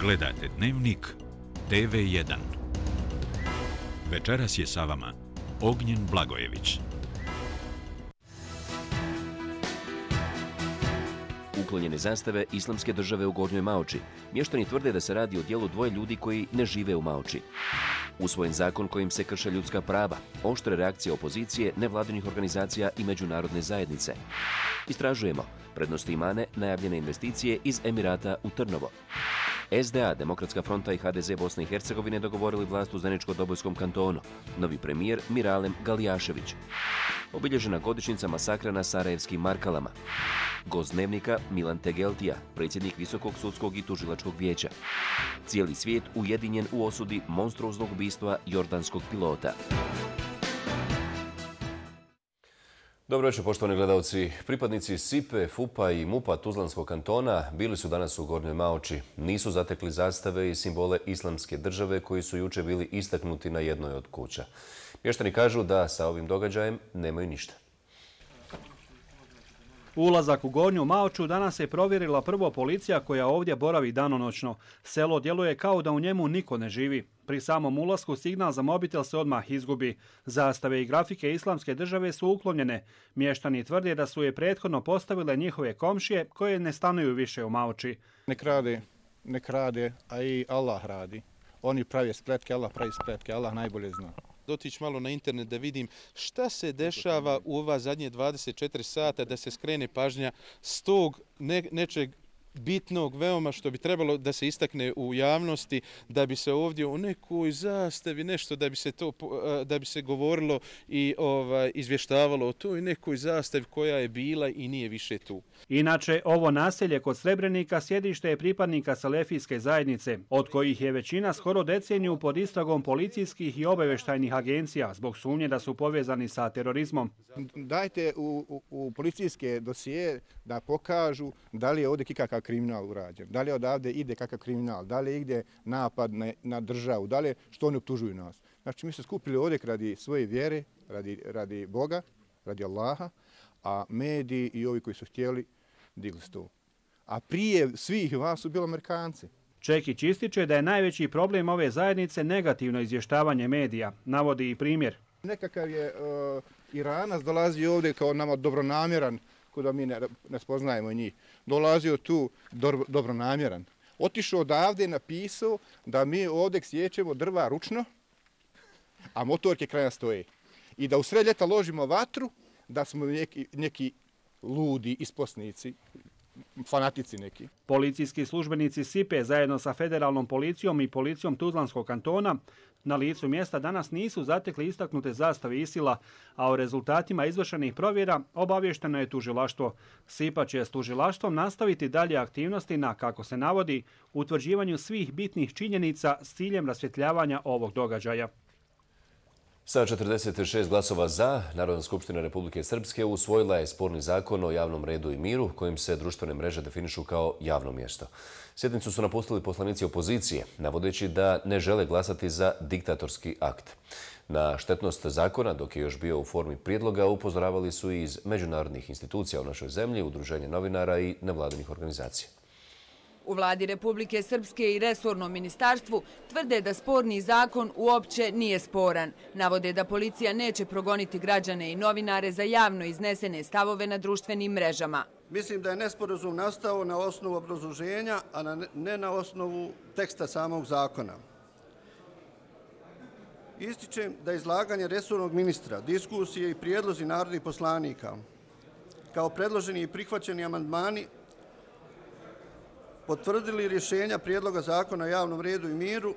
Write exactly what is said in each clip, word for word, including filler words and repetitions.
Gledate Dnevnik T V jedan. Večeras je sa vama Ognjen Blagojević. Uklonjene zastave Islamske države u Gornjoj Maoči. Mještani tvrde da se radi o djelu dvoje ljudi koji ne žive u Maoči. Usvojen zakon kojim se krše ljudska prava. Oštre reakcije opozicije, nevladinih organizacija i međunarodne zajednice. Istražujemo prednosti imane najavljene investicije iz Emirata u Trnovo. S D A, Demokratska fronta i H D Z Bosne i Hercegovine dogovorili vlast u Zeničko-Dobojskom kantonu. Novi premijer Miralem Galijašević. Obilježena godišnjica masakra na Sarajevskim Markalama. Gost Dnevnika Milan Tegeltija, predsjednik Visokog sudskog i tužilačkog vijeća. Cijeli svijet ujedinjen u osudi monstruoznog ubistva jordanskog pilota. Dobro večer, poštovani gledalci. Pripadnici S I P E, F U P-a i M U P-a Tuzlanskog kantona bili su danas u Gornjoj Maoči. Nisu zatekli zastave i simbole Islamske države koji su jučer bili istaknuti na jednoj od kuća. Mještani kažu da sa ovim događajem nemaju ništa. Ulazak u Gornju Maoču danas je provjerila prvo policija koja ovdje boravi danonoćno. Selo djeluje kao da u njemu niko ne živi. Pri samom ulasku signal za mobitel se odmah izgubi. Zastave i grafike Islamske države su uklonjene. Mještani tvrde da su je prethodno postavile njihove komšije koje ne stanuju više u Maoči. Nek rade, nek rade, a i Allah radi. Oni pravi spletke, Allah pravi spletke, Allah najbolje zna. Dotići malo na internet da vidim šta se dešava u ova zadnje dvadeset četiri sata, da se skrene pažnja s tog ne, nečeg bitnog veoma što bi trebalo da se istakne u javnosti, da bi se ovdje u nekoj zastavi nešto, da bi se to da bi se govorilo i ovaj izvještavalo o toj nekoj zastavi koja je bila i nije više tu. Inače, ovo naselje kod Srebrenika sjedište je pripadnika Selefijske zajednice, od kojih je većina skoro deceniju pod istragom policijskih i obavještajnih agencija zbog sumnje da su povezani sa terorizmom. Dajte u, u, u policijske dosije da pokažu da li je ovdje kakav kriminal urađen, da li odavde ide kakav kriminal, da li ide napad na, na državu, da li što oni optužuju nas. Znači mi smo skupili ovdje radi svoje vjere, radi, radi Boga, radi Allaha, a mediji i ovi koji su htjeli digli su to. A prije svih vas su bili Amerikanci. Čekić ističe da je najveći problem ove zajednice negativno izvještavanje medija. Navodi i primjer. Nekakav je uh, Iranac dolazi ovdje kao nama dobronamjeran, ko da mi ne, ne spoznajemo njih. Dolazio tu do, dobronamjeran. Otišao odavde i napisao da mi ovdje sjećemo drva ručno, a motorke kraj nas stoje. I da u sred ljeta ložimo vatru, da smo neki, neki ludi isposnici, fanatici neki. Policijski službenici S I P E zajedno sa federalnom policijom i policijom Tuzlanskog kantona na licu mjesta danas nisu zatekli istaknute zastave ISIL-a, a o rezultatima izvršenih provjera obavješteno je tužilaštvo. S I P A će s tužilaštvom nastaviti dalje aktivnosti na, kako se navodi, utvrđivanju svih bitnih činjenica s ciljem rasvjetljavanja ovog događaja. Sa četrdeset šest glasova za, Narodna skupština Republike Srpske usvojila je sporni zakon o javnom redu i miru, kojim se društvene mreže definišu kao javno mjesto. Sjednicu su napustili poslanici opozicije, navodeći da ne žele glasati za diktatorski akt. Na štetnost zakona, dok je još bio u formi prijedloga, upozoravali su i iz međunarodnih institucija u našoj zemlji, udruženje novinara i nevladinih organizacija. U vladi Republike Srpske i resornom ministarstvu tvrde da sporni zakon uopće nije sporan. Navode da policija neće progoniti građane i novinare za javno iznesene stavove na društvenim mrežama. Mislim da je nesporazum nastao na osnovu obrazloženja, a ne na osnovu teksta samog zakona. Ističem da izlaganje resornog ministra, diskusije i prijedlozi narodnih poslanika, kao predloženi i prihvaćeni amandmani, potvrdili rješenja prijedloga zakona o javnom redu i miru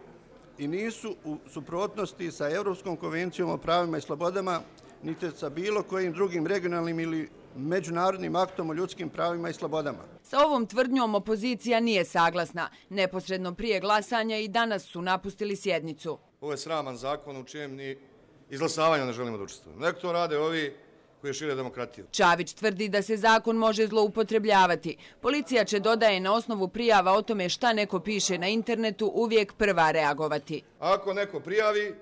i nisu u suprotnosti sa Europskom konvencijom o pravima i slobodama, niti sa bilo kojim drugim regionalnim ili međunarodnim aktom o ljudskim pravima i slobodama. Sa ovom tvrdnjom opozicija nije saglasna. Neposredno prije glasanja i danas su napustili sjednicu. Ovo je sraman zakon u čijem ni izglasavanja ne želimo da učestvujemo. Nek to rade ovi koji šire demokratiju. Čavić tvrdi da se zakon može zloupotrebljavati. Policija će, dodaje, na osnovu prijava o tome šta neko piše na internetu uvijek prva reagovati. Ako neko prijavi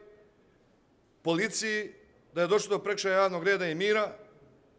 policiji da je došlo do prekršaja javnog reda i mira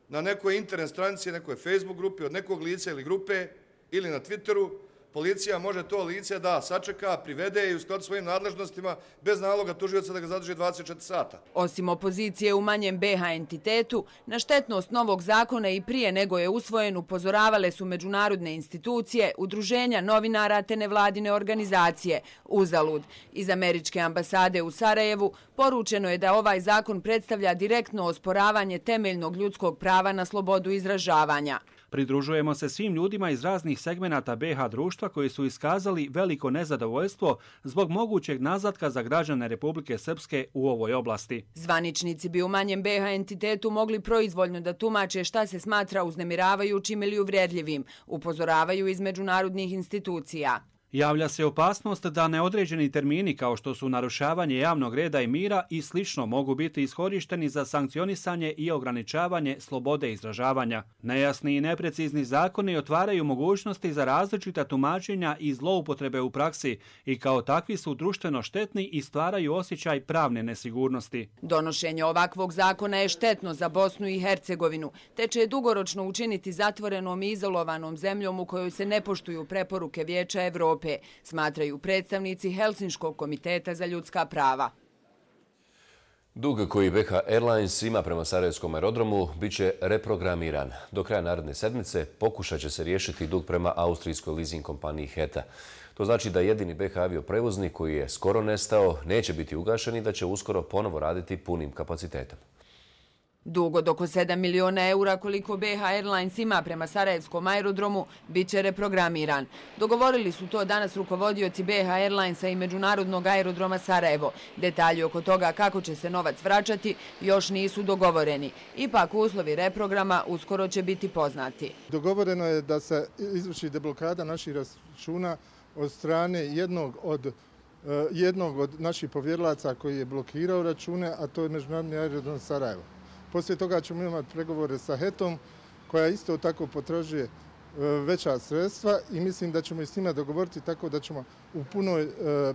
na nekoj internet stranici, nekoj Facebook grupi od nekog lica ili grupe ili na Twitteru, policija može to lice da sačeka, privede i u skladu svojim nadležnostima bez naloga tužioca da ga zadrži dvadeset četiri sata. Osim opozicije u manjem B H entitetu, na štetnost novog zakona i prije nego je usvojen upozoravale su međunarodne institucije, udruženja novinara te nevladine organizacije. Uzalud. Iz američke ambasade u Sarajevu poručeno je da ovaj zakon predstavlja direktno osporavanje temeljnog ljudskog prava na slobodu izražavanja. Pridružujemo se svim ljudima iz raznih segmenata B H društva koji su iskazali veliko nezadovoljstvo zbog mogućeg nazadka za građane Republike Srpske u ovoj oblasti. Zvaničnici bi u manjem B H entitetu mogli proizvoljno da tumače šta se smatra uznemiravajućim ili uvredljivim, upozoravaju iz međunarodnih institucija. Javlja se opasnost da neodređeni termini kao što su narušavanje javnog reda i mira i slično mogu biti iskorišteni za sankcionisanje i ograničavanje slobode izražavanja. Nejasni i neprecizni zakoni otvaraju mogućnosti za različita tumačenja i zloupotrebe u praksi i kao takvi su društveno štetni i stvaraju osjećaj pravne nesigurnosti. Donošenje ovakvog zakona je štetno za Bosnu i Hercegovinu, te će je dugoročno učiniti zatvorenom i izolovanom zemljom u kojoj se ne poštuju preporuke Vijeća Evrope, smatraju predstavnici Helsinškog komiteta za ljudska prava. Dug koji B H Airlines ima prema Sarajevskom aerodromu bit će reprogramiran. Do kraja naredne sedmice pokušat će se riješiti dug prema austrijskoj leasing kompaniji H E T A. To znači da jedini B H avioprevoznik koji je skoro nestao neće biti ugašen i da će uskoro ponovo raditi punim kapacitetom. Dug od oko sedam miliona eura koliko B H Airlines ima prema Sarajevskom aerodromu bit će reprogramiran. Dogovorili su to danas rukovodioci B H Airlinesa i Međunarodnog aerodroma Sarajevo. Detalji oko toga kako će se novac vraćati još nisu dogovoreni. Ipak uslovi reprograma uskoro će biti poznati. Dogovoreno je da se izvrši deblokada naših računa od strane jednog od jednog od naših povjerilaca koji je blokirao račune, a to je Međunarodni aerodrom Sarajevo. Poslije toga ćemo imati pregovore sa H E T-om koja isto tako potražuje veća sredstva i mislim da ćemo i s njima dogovoriti tako da ćemo u punoj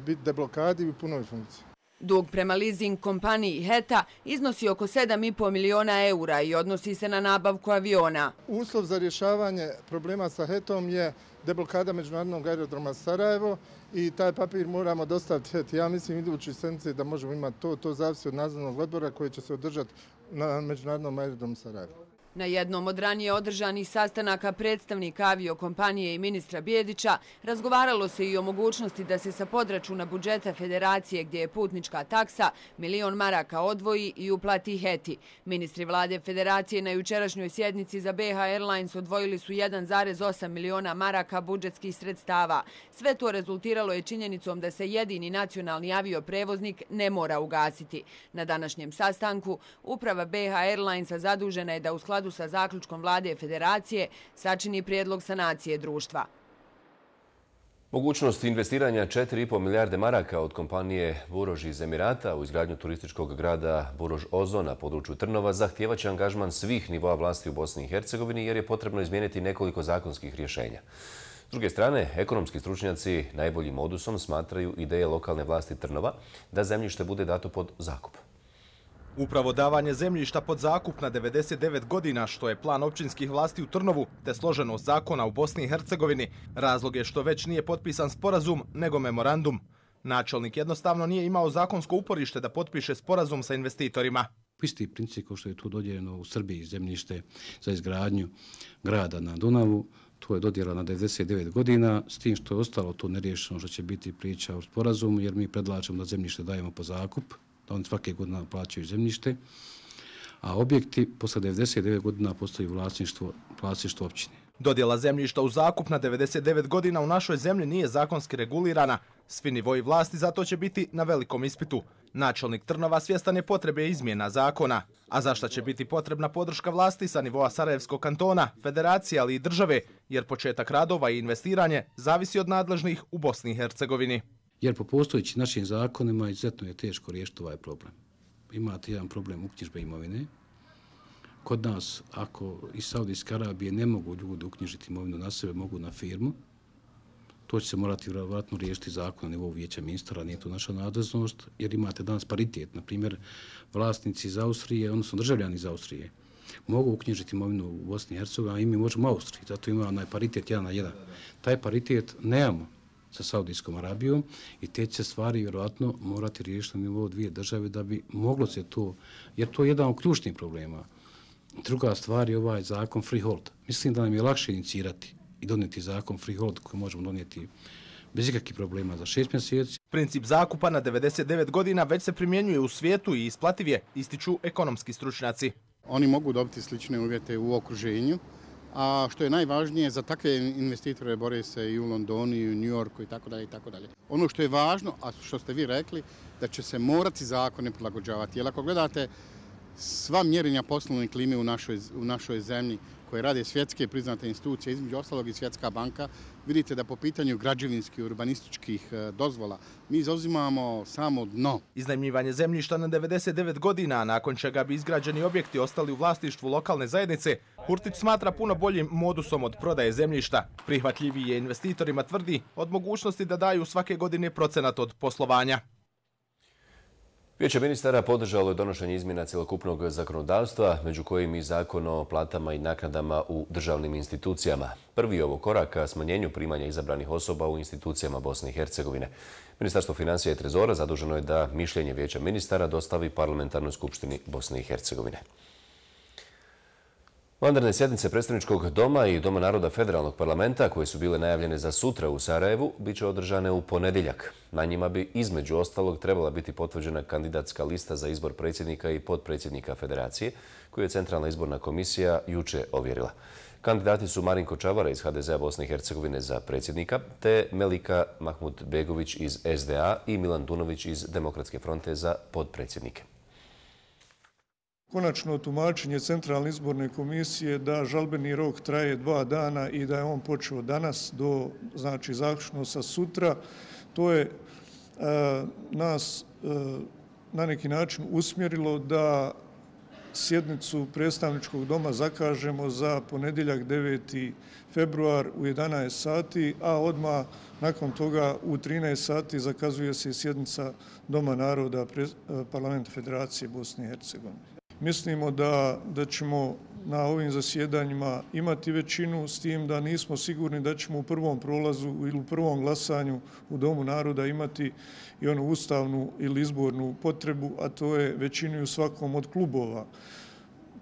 biti deblokadi i u punoj funkciji. Dug prema leasing kompaniji H E T A iznosi oko sedam i po miliona eura i odnosi se na nabavku aviona. Uslov za rješavanje problema sa H E T-om je deblokada Međunarodnog aerodroma Sarajevo i taj papir moramo dostaviti H E T A. Ja mislim idući sedmice da možemo imati to. To zavisi od nadzornog odbora koji će se održati na Međunarodnom aerodromu Sarajevo. Na jednom od ranije održanih sastanaka predstavnika aviokompanije i ministra Bijedića razgovaralo se i o mogućnosti da se sa podračuna budžeta federacije gdje je putnička taksa milion maraka odvoji i uplati H E T I. Ministri vlade federacije na jučerašnjoj sjednici za B H Airlines odvojili su jedan zarez osam miliona maraka budžetskih sredstava. Sve to rezultiralo je činjenicom da se jedini nacionalni avioprevoznik ne mora ugasiti. Na današnjem sastanku uprava B H Airlinesa zadužena je da u skladu sa zaključkom vlade federacije sačini prijedlog sanacije društva. Mogućnost investiranja četiri i po milijarde maraka od kompanije Burož iz Emirata u izgradnju turističkog grada Burož Ozo na području Trnova zahtijevaće angažman svih nivoa vlasti u Bosni i Hercegovini jer je potrebno izmijeniti nekoliko zakonskih rješenja. S druge strane, ekonomski stručnjaci najboljim modusom smatraju ideje lokalne vlasti Trnova da zemljište bude dato pod zakup. Upravo davanje zemljišta pod zakup na devedeset devet godina, što je plan općinskih vlasti u Trnovu, te složenost zakona u Bosni i Hercegovini, razlog je što već nije potpisan sporazum, nego memorandum. Načelnik jednostavno nije imao zakonsko uporište da potpiše sporazum sa investitorima. Isti princip kao što je tu dodijeljeno u Srbiji zemljište za izgradnju grada na Dunavu, to je dodjela na devedeset devet godina, s tim što je ostalo to neriješeno što će biti priča o sporazumu, jer mi predlažemo da zemljište dajemo po zakup, da oni svake godine plaćaju zemljište, a objekti posle devedeset devet godina postaju vlasništvo, vlasništvo općine. Dodjela zemljišta u zakup na devedeset devet godina u našoj zemlji nije zakonski regulirana. Svi nivoji vlasti zato će biti na velikom ispitu. Načelnik Trnova svjestan je potrebe izmjena zakona. A zašta će biti potrebna podrška vlasti sa nivoa Sarajevskog kantona, federacije, ali i države, jer početak radova i investiranje zavisi od nadležnih u Bosni i Hercegovini. Jer po postojećim našim zakonima izuzetno je teško riješiti ovaj problem. Imate jedan problem uknjižbe imovine. Kod nas, ako iz Saudijske Arabije ne mogu ljudi uknjižiti imovinu na sebe, mogu na firmu, to će se morati vjerovatno riješiti zakon na nivou vijeća ministara, nije to naša nadležnost, jer imate danas paritet. Na primjer, vlasnici iz Austrije, odnosno državljani iz Austrije, mogu uknjižiti imovinu u Bosni i Hercegovini, a i mi možemo u Austriji, zato ima onaj paritet jedan na jedan. Taj paritet nemamo sa Saudijskom Arabijom i te će stvari vjerojatno morati riješiti na nivou dvije države da bi moglo se to, jer to je jedan od ključnih problema. Druga stvar je ovaj zakon freehold. Mislim da nam je lakše inicirati i donijeti zakon freehold koji možemo donijeti bez ikakvih problema za šest mjeseci. Princip zakupa na devedeset devet godina već se primjenjuje u svijetu i isplativ je, ističu ekonomski stručnjaci. Oni mogu dobiti slične uvjete u okruženju, a što je najvažnije za takve investitore bore se i u Londonu i u New Yorku i tako dalje i tako dalje. Ono što je važno, a što ste vi rekli, da će se morati zakone prilagođavati. Jer ako gledate sva mjerenja poslovne klime u našoj, u našoj zemlji koje rade svjetske priznate institucije, između ostalog i Svjetska banka, vidite da po pitanju građevinskih, urbanističkih dozvola mi zauzimamo samo dno. Iznajmljivanje zemljišta na devedeset devet godina, nakon čega bi izgrađeni objekti ostali u vlasništvu lokalne zajednice, Hurtić smatra puno boljim modusom od prodaje zemljišta. Prihvatljiviji je investitorima, tvrdi, od mogućnosti da daju svake godine procenat od poslovanja. Vijeće ministara podržalo je donošenje izmjena cjelokupnog zakonodavstva, među kojim i zakon o platama i naknadama u državnim institucijama. Prvi je ovo korak ka smanjenju primanja izabranih osoba u institucijama Bosne i Hercegovine. Ministarstvo financija i trezora zaduženo je da mišljenje Vijeća ministara dostavi Parlamentarnoj skupštini Bosne i Hercegovine. Vanredne sjednice Predstavničkog doma i Doma naroda Federalnog parlamenta, koje su bile najavljene za sutra u Sarajevu, bit će održane u ponedjeljak. Na njima bi između ostalog trebala biti potvrđena kandidatska lista za izbor predsjednika i potpredsjednika Federacije, koju je Centralna izborna komisija juče ovjerila. Kandidati su Marinko Čavara iz H D Z-a Bosne i Hercegovine za predsjednika, te Melika Mahmud Begović iz S D A i Milan Dunović iz Demokratske fronte za potpredsjednike. Konačno tumačenje Centralne izborne komisije da žalbeni rok traje dva dana i da je on počeo danas do, znači, zaključno sa sutra, to je e, nas e, na neki način usmjerilo da sjednicu predstavničkog doma zakažemo za ponedjeljak deveti februar u jedanaest sati, a odmah nakon toga u trinaest sati zakazuje se sjednica Doma naroda Parlamenta Federacije Bosne i Hercegovine. Mislimo da, da ćemo na ovim zasjedanjima imati većinu, s tim da nismo sigurni da ćemo u prvom prolazu ili u prvom glasanju u Domu naroda imati i onu ustavnu ili izbornu potrebu, a to je većinu u svakom od klubova.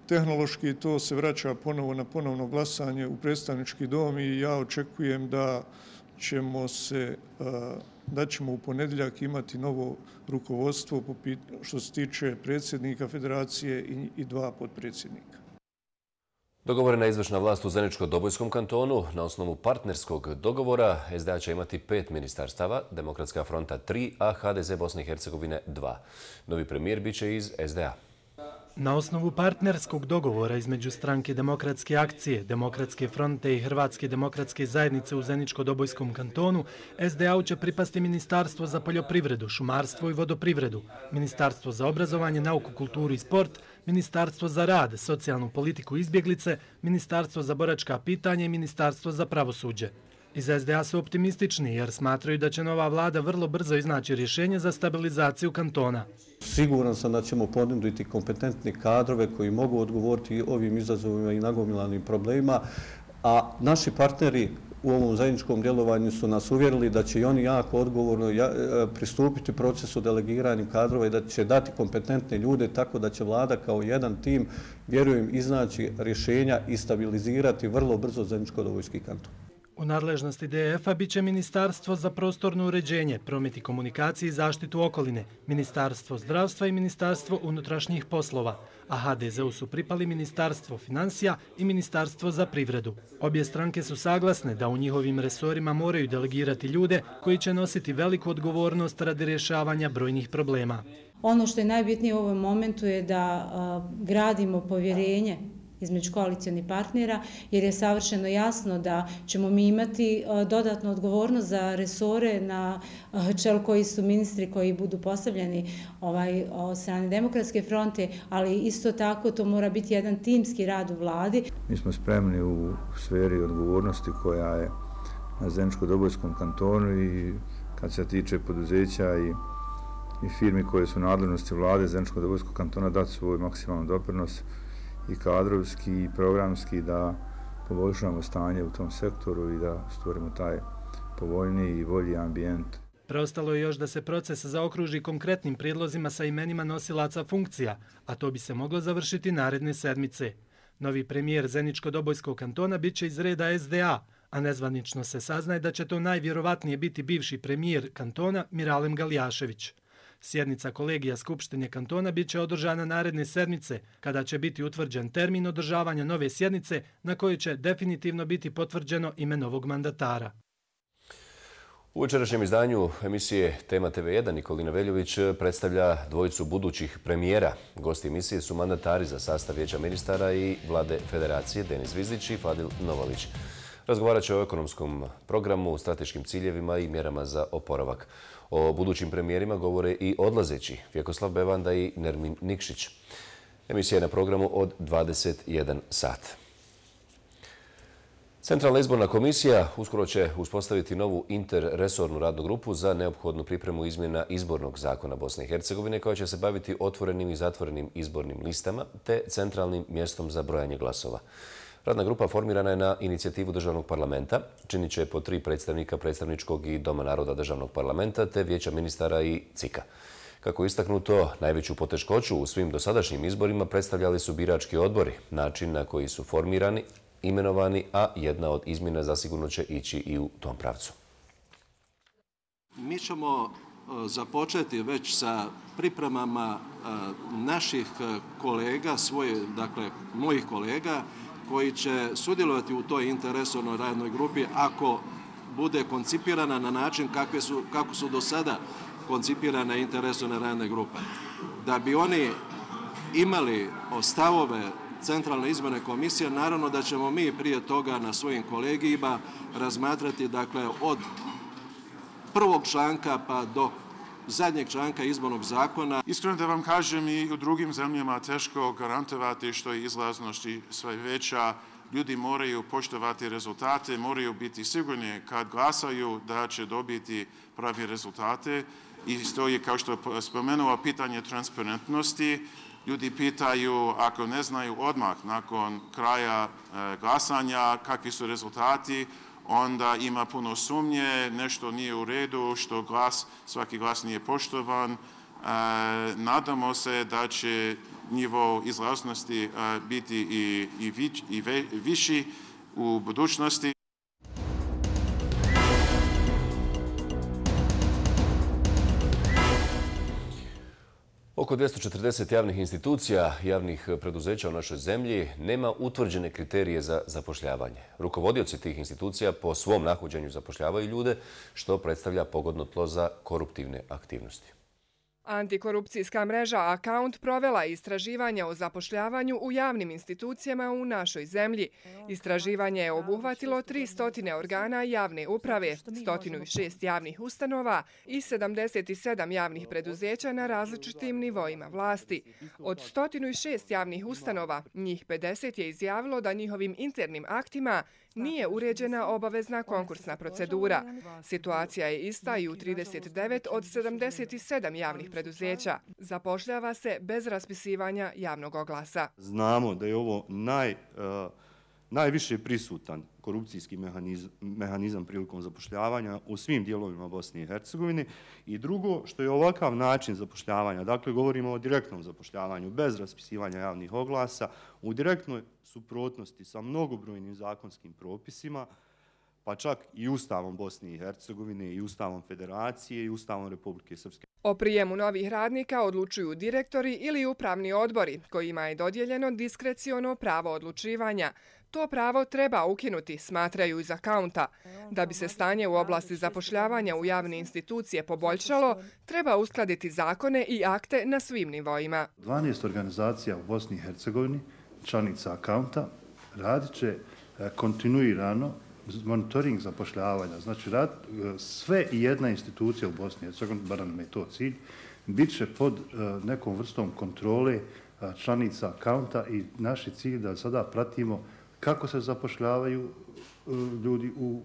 Tehnološki to se vraća ponovo na ponovno glasanje u predstavnički dom i ja očekujem da ćemo se da ćemo u ponedjeljak imati novo rukovodstvo što se tiče predsjednika Federacije i dva potpredsjednika. Dogovorena izvršna vlast u Zeničko-Dobojskom kantonu na osnovu partnerskog dogovora S D A će imati pet ministarstava, Demokratska fronta tri, a H D Z Bosne i Hercegovine dva. Novi premijer biće iz S D A. Na osnovu partnerskog dogovora između stranke Demokratske akcije, Demokratske fronte i Hrvatske demokratske zajednice u Zeničko-Dobojskom kantonu, S D A-u će pripasti Ministarstvo za poljoprivredu, šumarstvo i vodoprivredu, Ministarstvo za obrazovanje, nauku, kulturu i sport, Ministarstvo za rad, socijalnu politiku i izbjeglice, Ministarstvo za boračka pitanja i Ministarstvo za pravosuđe. Iz S D A su optimistični jer smatraju da će nova vlada vrlo brzo iznaći rješenje za stabilizaciju kantona. Siguran sam da ćemo ponuditi kompetentne kadrove koji mogu odgovoriti ovim izazovima i nagomilanim problemima, a naši partneri u ovom zajedničkom djelovanju su nas uvjerili da će i oni jako odgovorno pristupiti procesu delegiranja kadrova i da će dati kompetentne ljude tako da će vlada kao jedan tim, vjerujem, iznaći rješenja i stabilizirati vrlo brzo Zeničko-Dobojski kanton. U nadležnosti D F-a bit će Ministarstvo za prostorno uređenje, promet i komunikaciji i zaštitu okoline, Ministarstvo zdravstva i Ministarstvo unutrašnjih poslova, a H D Z-u su pripali Ministarstvo financija i Ministarstvo za privredu. Obje stranke su saglasne da u njihovim resorima moraju delegirati ljude koji će nositi veliku odgovornost radi rješavanja brojnih problema. Ono što je najbitnije u ovom momentu je da a, gradimo povjerenje između koalicionih partnera, jer je savršeno jasno da ćemo mi imati dodatnu odgovornost za resore na čelu koji su ministri koji budu postavljeni ovaj, od strane Demokratske fronte, ali isto tako to mora biti jedan timski rad u vladi. Mi smo spremni u sferi odgovornosti koja je na Zeničko-Dobojskom kantonu i kad se tiče poduzeća i, i firmi koje su nadležnosti vlade Zeničko-Dobojskog kantona dati svoj maksimalan doprinos i kadrovski i programski da poboljšamo stanje u tom sektoru i da stvorimo taj povoljniji i bolji ambijent. Preostalo je još da se proces zaokruži konkretnim prijedlozima sa imenima nosilaca funkcija, a to bi se moglo završiti naredne sedmice. Novi premijer Zeničko-Dobojskog kantona bit će iz reda S D A, a nezvanično se saznaje da će to najvjerovatnije biti bivši premijer kantona Miralem Galijašević. Sjednica kolegija Skupštine kantona bit će održana naredne sedmice, kada će biti utvrđen termin održavanja nove sjednice na kojoj će definitivno biti potvrđeno ime novog mandatara. U večerašnjem izdanju emisije Tema T V jedan Nikolina Veljović predstavlja dvojicu budućih premijera. Gosti emisije su mandatari za sastav Vijeća ministara i Vlade Federacije Denis Zvizdić i Fadil Novalić. Razgovarat će o ekonomskom programu, strateškim ciljevima i mjerama za oporavak. O budućim premijerima govore i odlazeći Vjekoslav Bevanda i Nermin Nikšić. Emisija je na programu od dvadeset jedan sat. Centralna izborna komisija uskoro će uspostaviti novu interresornu radnu grupu za neophodnu pripremu izmjena izbornog zakona Bosne i Hercegovine koja će se baviti otvorenim i zatvorenim izbornim listama te centralnim mjestom za brojanje glasova. Radna grupa formirana je na inicijativu Državnog parlamenta, činit će po tri predstavnika predstavničkog i Doma naroda Državnog parlamenta te Vijeća ministara i C I K-a. Kako je istaknuto, najveću poteškoću u svim dosadašnjim izborima predstavljali su birački odbori, način na koji su formirani, imenovani, a jedna od izmjena zasigurno će ići i u tom pravcu. Mi ćemo započeti već sa pripremama naših kolega, svoje, dakle mojih kolega, koji će sudjelovati u toj interresornoj radnoj grupi ako bude koncipirana na način kakve su, kako su do sada koncipirane interresorne radne grupe. Da bi oni imali stavove Centralne izborne komisije, naravno da ćemo mi prije toga na svojim kolegijima razmatrati, dakle, od prvog članka pa do zadnjeg članka izbornog zakona. Iskreno da vam kažem, i u drugim zemljama teško garantovati što je izlaznost sve veća. Ljudi moraju poštovati rezultate, moraju biti sigurni kad glasaju da će dobiti pravi rezultate. I stoji, kao što je spomenuo, pitanje transparentnosti. Ljudi pitaju, ako ne znaju odmah nakon kraja glasanja kakvi su rezultati, onda ima puno sumnje, nešto nije u redu, što glas, svaki glas nije poštovan. Nadamo se da će nivo izlaznosti biti i, i, vić, i ve, viši u budućnosti. Oko dvjesto četrdeset javnih institucija, javnih preduzeća u našoj zemlji nema utvrđene kriterije za zapošljavanje. Rukovodioci tih institucija po svom nahođenju zapošljavaju ljude, što predstavlja pogodno tlo za koruptivne aktivnosti. Antikorupcijska mreža Account provela je istraživanje o zapošljavanju u javnim institucijama u našoj zemlji. Istraživanje je obuhvatilo tristo organa javne uprave, sto šest javnih ustanova i sedamdeset sedam javnih preduzeća na različitim nivoima vlasti. Od sto šest javnih ustanova, njih pedeset je izjavilo da njihovim internim aktima nije uređena obavezna konkursna procedura. Situacija je ista i u trideset devet od sedamdeset sedam javnih preduzeća. Zapošljava se bez raspisivanja javnog oglasa. Znamo da je ovo naj, uh, najviše prisutan korupcijski mehanizam, mehanizam prilikom zapošljavanja u svim dijelovima Bosne i Hercegovine. I drugo, što je ovakav način zapošljavanja, dakle govorimo o direktnom zapošljavanju bez raspisivanja javnih oglasa, u direktnoj suprotnosti sa mnogobrojnim zakonskim propisima, pa čak i Ustavom Bosne i Hercegovine, i Ustavom Federacije, i Ustavom Republike Srpske. O prijemu novih radnika odlučuju direktori ili upravni odbori, kojima je dodijeljeno diskreciono pravo odlučivanja. To pravo treba ukinuti, smatraju iz Accounta. Da bi se stanje u oblasti zapošljavanja u javne institucije poboljšalo, treba uskladiti zakone i akte na svim nivoima. dvanaest organizacija u Bosni i Hercegovini, članica Accounta, radit će kontinuirano monitoring zapošljavanja. Znači, rad, sve i jedna institucija u Bosni i Hercegovini, bar nam je to cilj, bit će pod nekom vrstom kontrole članica Accounta i naš je cilj da sada pratimo kako se zapošljavaju ljudi u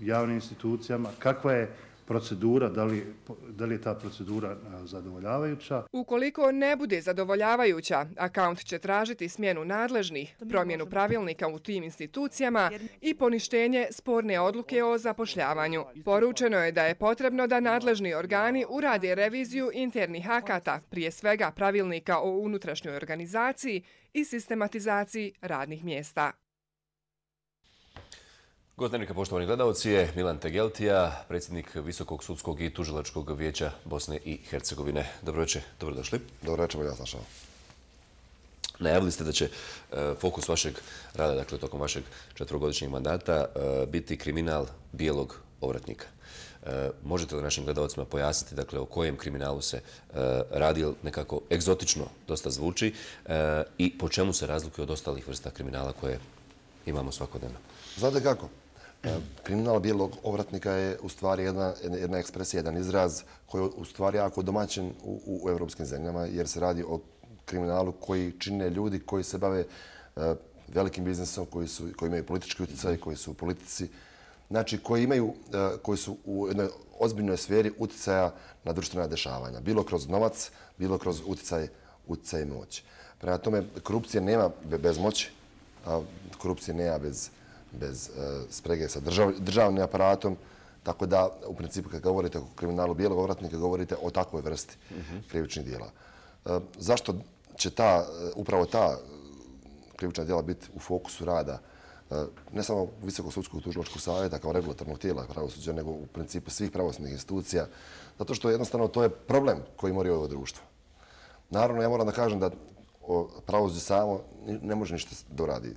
javnim institucijama, kakva je procedura, da li, da li je ta procedura zadovoljavajuća. Ukoliko ne bude zadovoljavajuća, akaunt će tražiti smjenu nadležnih, promjenu pravilnika u tim institucijama i poništenje sporne odluke o zapošljavanju. Poručeno je da je potrebno da nadležni organi urade reviziju internih akata, prije svega pravilnika o unutrašnjoj organizaciji i sistematizaciji radnih mjesta. Gost Dnevnika, poštovani gledalci, je Milan Tegeltija, predsjednik Visokog sudskog i tužilačkog vijeća Bosne i Hercegovine. Dobro večer, dobrodošli. Dobro večer, ja sam šao. Najavili ste da će fokus vašeg rada, dakle tokom vašeg četvrogodišnjeg mandata, biti kriminal bijelog ovratnika. Možete li našim gledalcima pojasniti, dakle, o kojem kriminalu se radi, nekako egzotično dosta zvuči, i po čemu se razlikuje od ostalih vrsta kriminala koje imamo svakodnevno? Znate kako? Kriminal bijelog ovratnika je u stvari jedna, jedna ekspresija, jedan izraz koji je u stvari jako domaćen u, u evropskim zemljama, jer se radi o kriminalu koji čine ljudi koji se bave uh, velikim biznisom, koji, su, koji imaju politički utjecaj, koji su u politici, znači koji imaju, uh, koji su u jednoj ozbiljnoj sferi utjecaja na društvena dešavanja, bilo kroz novac, bilo kroz utjecaj, utjecaj i moć. Prema tome, korupcije nema bez moći, a korupcije nema bez bez uh, sprege sa držav, državnim aparatom, tako da u principu kad govorite o kriminalu bijelog ovratnika govorite o takvoj vrsti uh-huh. krivičnih djela. Uh, zašto će ta, upravo ta krivična djela biti u fokusu rada uh, ne samo Visokog sudskog tužilačkog savjeta kao regulatornog tijela pravosuđa, nego u principu svih pravosudnih institucija, zato što jednostavno to je problem koji mori ovo društvo. Naravno, ja moram da kažem da pravosuđe samo ne može ništa doradi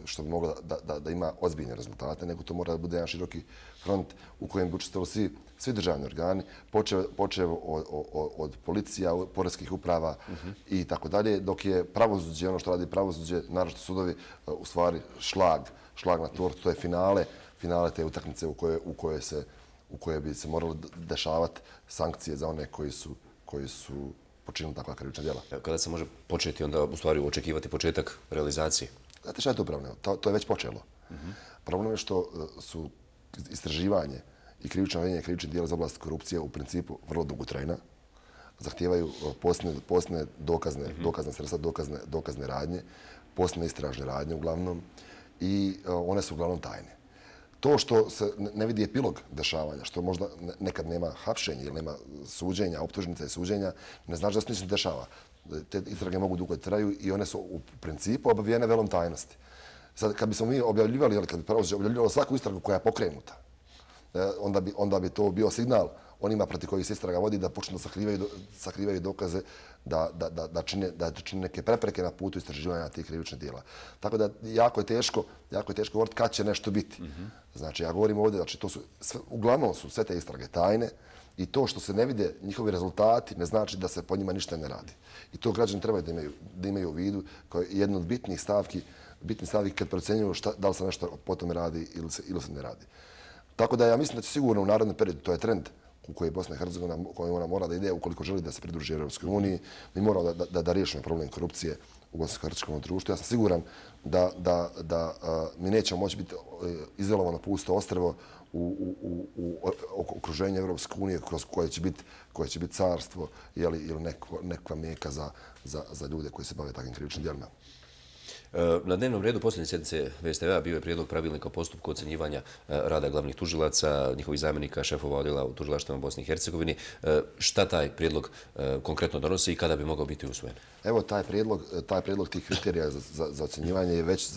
što bi moglo da, da, da ima ozbiljne rezultate, nego to mora da bude jedan široki front u kojem bi učestvovali svi, svi državni organi, počev, počev od, od, od policija, poreskih uprava uh-huh. i tako dalje, dok je pravosuđe, ono što radi pravosuđe, naravno sudovi, u stvari šlag, šlag na tortu, to je finale, finale te utakmice u koje, u koje, se, u koje bi se moralo dešavati sankcije za one koji su, koji su počinili takva krivična djela. Kada se može početi onda u stvari očekivati početak realizacije? Znate šta je to problem? To, to je već počelo. Uh-huh. Problem je što su istraživanje i krivično gonjenje krivičnih djela za oblast korupcije u principu vrlo dugotrajna. Zahtijevaju posne, posne dokazne, uh-huh. dokazne sredstva, dokazne, dokazne radnje, posne istražne radnje uglavnom i one su uglavnom tajne. To što se ne vidi epilog dešavanja, što možda nekad nema hapšenja ili nema suđenja, optužnica i suđenja, ne znači da se ništa ne dešava. Te istrage mogu dugo traju i one su u principu obavijene velom tajnosti. Sad, kad bismo mi objavljivali, ili kad bi pravosuđe objavljivalo svaku istragu koja je pokrenuta, onda bi, onda bi to bio signal onima protiv kojih se istraga vodi da počnu da sakrivaju, sakrivaju dokaze da, da, da, da, čine, da čine neke prepreke na putu istraživanja tih krivičnih djela. Tako da jako je teško, jako je teško govoriti kad će nešto biti. Mm-hmm. Znači, ja govorim ovdje, znači, to su, sve, uglavnom su sve te istrage tajne i to što se ne vide njihovi rezultati ne znači da se po njima ništa ne radi. I to građani trebaju da imaju, da imaju u vidu kao jednu od bitnih stavki, bitnih stavki kad procenjuju šta, da li se nešto po tome radi ili se, ili se ne radi. Tako da ja mislim da će sigurno u narednom periodu, to je trend u kojoj Bosna i Hercegovina, kojoj ona mora da ide ukoliko želi da se pridruži Europskoj uniji, mi moramo da, da, da riješimo problem korupcije u Bosansko-hercegovačkom društvu. Ja sam siguran da, da, da a, mi nećemo moći biti izolovano pusto ostrvo u, u, u, u okruženju Europske unije kroz koje će biti, koje će biti carstvo jeli, ili neko, nekva meka za, za, za ljude koji se bave takvim krivičnim djelima. Na dnevnom redu posljednje sjednice V S T V-a bio je prijedlog pravilnika o postupku ocjenjivanja rada glavnih tužilaca, njihovih zamjenika, šefova odjela u tužilaštvima Bosni i Hercegovini. Šta taj prijedlog konkretno donosi i kada bi mogao biti usvojen? Evo, taj prijedlog, taj prijedlog tih kriterija za, za, za ocjenjivanje je već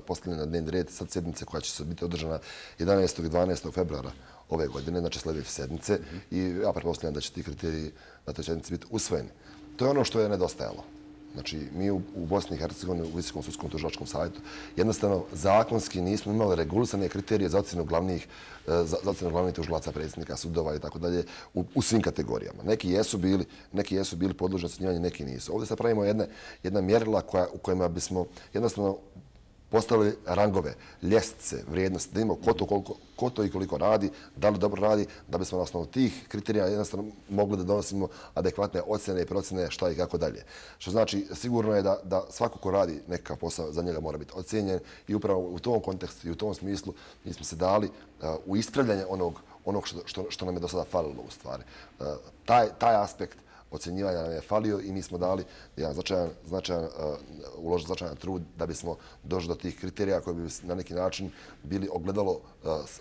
postavljen na dnevni red sad sjednice koja će se biti održana jedanaestog i dvanaestog februara ove godine, znači sljedeće sedmice. Mm-hmm. I ja pretpostavljam da će ti kriteriji na toj sjednici biti usvojeni. To je ono što je nedostajalo. Znači, mi u, u Bosni i Hercegovini, u Visokom sudskom tužilačkom savjetu, jednostavno zakonski nismo imali regulisane kriterije za ocjenu glavnih, za, za ocjenu glavnih tužilaca, predsjednika sudova i tako dalje u, u svim kategorijama. Neki jesu bili, neki jesu bili podložni ocjenjivanju, neki nisu. Ovdje sad pravimo jedne, jedna mjerila koja, u kojima bismo jednostavno postavili rangove, ljestvice, vrijednosti, da imamo ko to, koliko, ko to i koliko radi, da li dobro radi, da bismo na osnovu tih kriterija jednostavno mogli da donosimo adekvatne ocjene i procjene šta i kako dalje. Što znači, sigurno je da, da svako ko radi nekakav posao za njega mora biti ocjenjen i upravo u tom kontekstu i u tom smislu mi smo se dali uh, u ispravljanje onog, onog što, što, što nam je do sada falilo u stvari. Uh, taj, taj aspekt ocjenjivanja nam je falio i mi smo dali jedan značajan, značajan, uh, uložili značajan trud da bismo došli do tih kriterija koji bi na neki način bili ogledalo uh,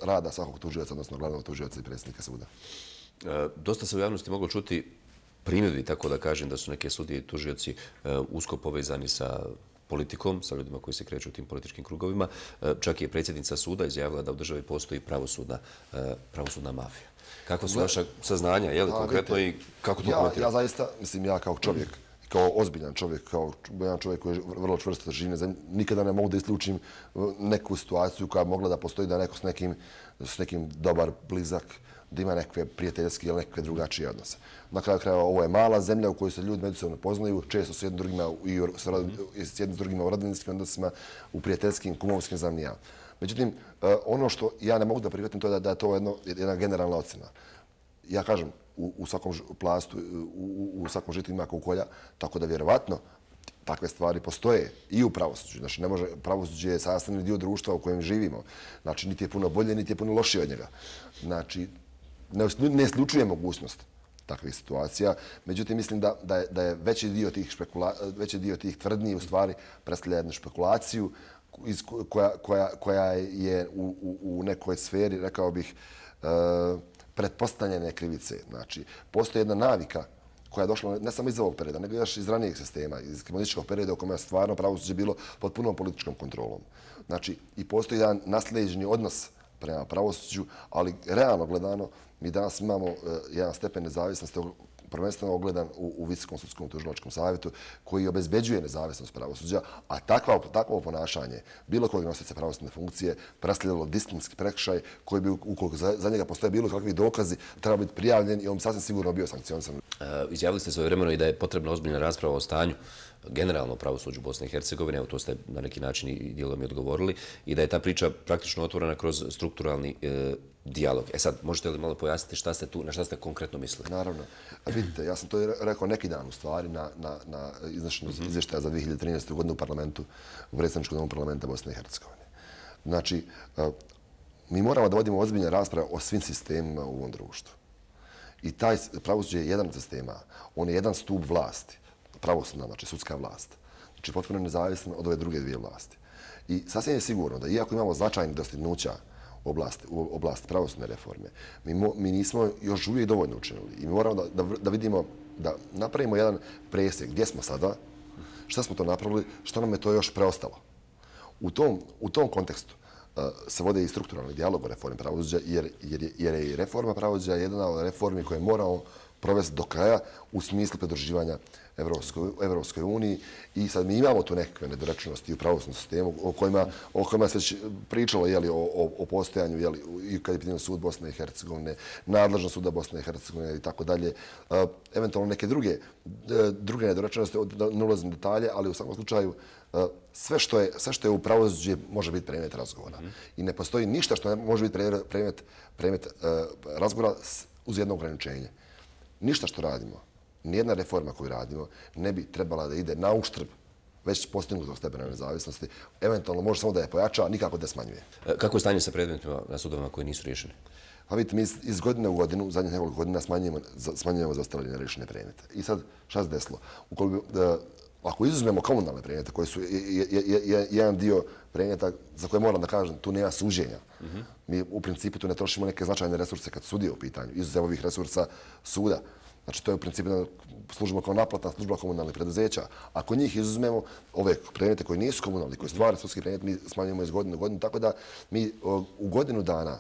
rada svakog tužioca, odnosno glavnog tužioca i predsjednika suda. E, dosta se u javnosti moglo čuti primjedbi, tako da kažem, da su neke sudije i tužioci e, usko povezani sa politikom, sa ljudima koji se kreću u tim političkim krugovima. E, čak je predsjednica suda izjavila da u državi postoji pravosudna, e, pravosudna mafija. Kakva su vaša saznanja, je li konkretno i kako to komentirate? Ja, ja zaista, mislim, ja kao čovjek, kao ozbiljan čovjek, kao jedan čovjek koji je vrlo čvrsto živi, nikada ne mogu da isključim neku situaciju koja bi mogla da postoji da neko s nekim, s nekim dobar, blizak, da ima nekakve prijateljske ili nekakve drugačije odnose. Na kraju krajeva, ovo je mala zemlja u kojoj se ljudi međusobno poznaju, često su jedni drugima i s jednim drugima u rodbinskim odnosima, u prijateljskim, kumovskim, znam ni ja. Međutim, ono što ja ne mogu da prihvatim to je da, da je to jedno, jedna generalna ocjena. Ja kažem, u, u svakom plastu, u, u svakom žitu ima kukolja, tako da vjerovatno takve stvari postoje i u pravosuđu. Znači, ne može, pravosuđe je sastavni dio društva u kojem živimo. Znači, niti je puno bolje, niti je puno lošije od njega. Znači, ne, ne isključuje mogućnost takvih situacija. Međutim, mislim da, da, je, da je veći dio tih, špekula, veći dio tih tvrdnji u stvari predstavlja jednu špekulaciju iz, koja, koja, koja je u, u, u nekoj sferi, rekao bih, e, pretpostavljene krivice. Znači, postoji jedna navika koja je došla ne samo iz ovog perioda, nego još iz ranijeg sistema, iz komunističkog perioda u kojem je stvarno pravosuđe bilo pod punom političkom kontrolom. Znači, i postoji jedan nasljeđeni odnos prema pravosuđu, ali realno gledano, mi danas imamo uh, jedan stepen nezavisnosti prvenstveno ogledan u, u Visokom sudskom tužilačkom savjetu koji obezbeđuje nezavisnost pravosuđa, a takva, takvo ponašanje bilo kojeg nosioca pravosudne funkcije predstavljalo disciplinski prekršaj koji bi, ukoliko za, za njega postoje bilo kakvi dokazi, treba biti prijavljen i on bi sasvim sigurno bio sankcionisan. Uh, izjavili ste svojevremeno i da je potrebna ozbiljna rasprava o stanju generalno pravosuđu Bosne i Hercegovine, evo to ste na neki način i dijelom i odgovorili, i da je ta priča praktično otvorena kroz strukturalni e, dijalog. E sad, možete li malo pojasniti šta ste tu, na šta ste konkretno mislili? Naravno. Vidite, ja sam to rekao neki dan u stvari na, na, na izvršenju mm-hmm. izvještaja za dvije hiljade trinaestu. godinu u parlamentu, u predsjedničkom domu parlamenta Bosne i Hercegovine. Znači, mi moramo da vodimo ozbiljne rasprave o svim sistemima u ovom društvu. I taj pravosuđe je jedan od sistema, on je jedan stup vlasti, pravosudna, znači sudska vlast. Znači, potpuno nezavisno od ove druge dvije vlasti. I sasvim je sigurno da iako imamo značajnih dostignuća u oblasti, u oblasti pravosudne reforme, mi, mo, mi nismo još uvijek dovoljno učinili. I mi moramo da, da, da vidimo, da napravimo jedan presjek gdje smo sada, šta smo to napravili, što nam je to još preostalo. U tom, u tom kontekstu uh, se vode i strukturalni dijalog o reformi pravosuđa, jer, jer, je, jer je i reforma pravosuđa jedna od reformi koje moramo provesti do kraja u smislu pridruživanja Evropskoj, Evropskoj uniji. I sad mi imamo tu nekakve nedorečenosti u pravosudnom sistemu o kojima, o kojima se već pričalo jeli, o, o, o postojanju jeli, i kad je pitanje sud Bosne i Hercegovine, nadležnost suda Bosne i Hercegovine i tako dalje. Uh, eventualno neke druge, uh, druge nedorečenosti, ne ulazim detalje, ali u svakom slučaju uh, sve, što je, sve što je u pravosuđu može biti predmet razgovora. Mm-hmm. I ne postoji ništa što ne može biti predmet, predmet uh, razgovora uz jedno ograničenje. Ništa što radimo, nijedna reforma koju radimo ne bi trebala da ide na uštrb već postignutog stepena nezavisnosti. Eventualno može samo da je pojača, nikako da smanjuje. Kako je stanje sa predmetima na sudovima koji nisu riješeni? Pa vidite, mi iz godine u godinu, zadnjih nekoliko godina smanjujemo, smanjujemo zaostavljene rješene predmete. I sad, šta se desilo? Ukoliko, da, ako izuzmemo komunalne predmete, koji su je, je, je, je, jedan dio predmeta za koje moram da kažem, tu nema suđenja. Mm-hmm. Mi u principu tu ne trošimo neke značajne resurse kad sudije u pitanju, izuzev ovih resursa suda. Znači, to je u principu služba kao naplatna služba komunalnih preduzeća. Ako njih izuzmemo, ove predmete koji nisu komunalni, koji stvari sudski predmet, mi smanjujemo iz godine u godinu, tako da mi u godinu dana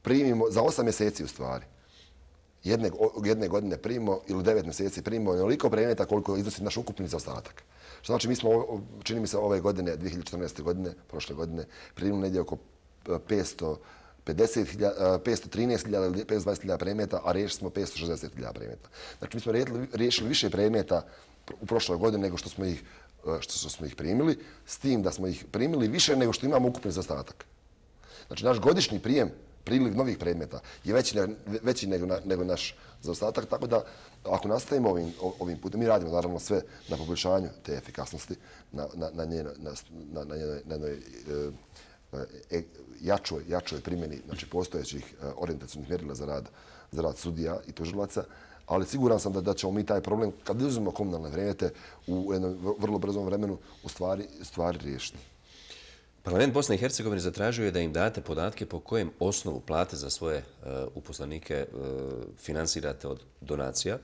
primimo, za osam mjeseci u stvari, jedne, jedne godine primimo ili devet mjeseci primimo onoliko predmeta koliko iznosi naš ukupni zaostatak. Što znači, mi smo, čini mi se, ove godine, dvije hiljade četrnaeste. godine, prošle godine, primimo negdje oko petsto trinaest hiljada ili petsto dvadeset hiljada predmeta, a riješili smo petsto šezdeset hiljada predmeta. Znači, mi smo riješili više predmeta u prošloj godini nego što smo ih što smo ih primili, s tim da smo ih primili više nego što imamo ukupni zaostatak. Znači, naš godišnji prijem, priliv novih predmeta je veći, veći nego, nego naš zaostatak, tako da ako nastavimo ovim, ovim putem, mi radimo naravno sve na poboljšanju te efikasnosti, na, na, na, njenoj, na, na, na, njenoj, na njenoj e, jačoj, jačoj primjeni znači, postojećih orijentacijnih mjerila za rad, za rad sudija i tužilaca, ali siguran sam da, da ćemo mi taj problem, kad uzmemo komunalne predmete u jednom vrlo brzom vremenu, u stvari, stvari riješiti. Parlament Bosne i Hercegovine zatražio je da im date podatke po kojem osnovu plate za svoje uh, uposlenike uh, finansirate od donacija.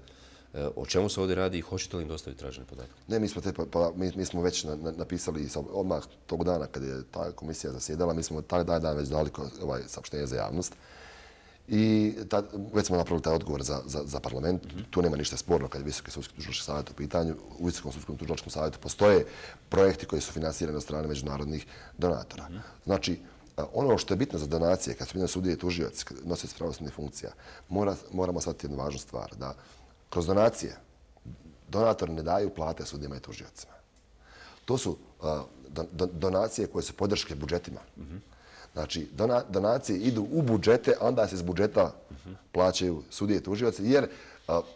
Uh, o čemu se ovdje radi i hoćete li im dostaviti tražene podatke? Ne, mi smo, te, pa, mi, mi smo već na, na, napisali odmah tog dana kad je ta komisija zasjedala, mi smo taj dan već dali ovaj, saopštenje za javnost. I ta, već smo napravili taj odgovor za, za, za parlament. Mm-hmm. Tu nema ništa sporno kad je Visoki sudski tužilački savjet u pitanju. U Visokom sudskom tužilačkom savjetu postoje projekti koji su finansirani od strane međunarodnih donatora. Mm-hmm. Znači, ono što je bitno za donacije, kad su bitno sudije i tužioci, nosioci pravosudnih funkcija, mora, moramo shvatiti jednu važnu stvar, da kroz donacije donatori ne daju plate sudijama i tužiocima. To su uh, do, do, donacije koje su podrške budžetima. Mm-hmm. Znači, donacije idu u budžete, a onda se iz budžeta plaćaju sudije i tužioci, jer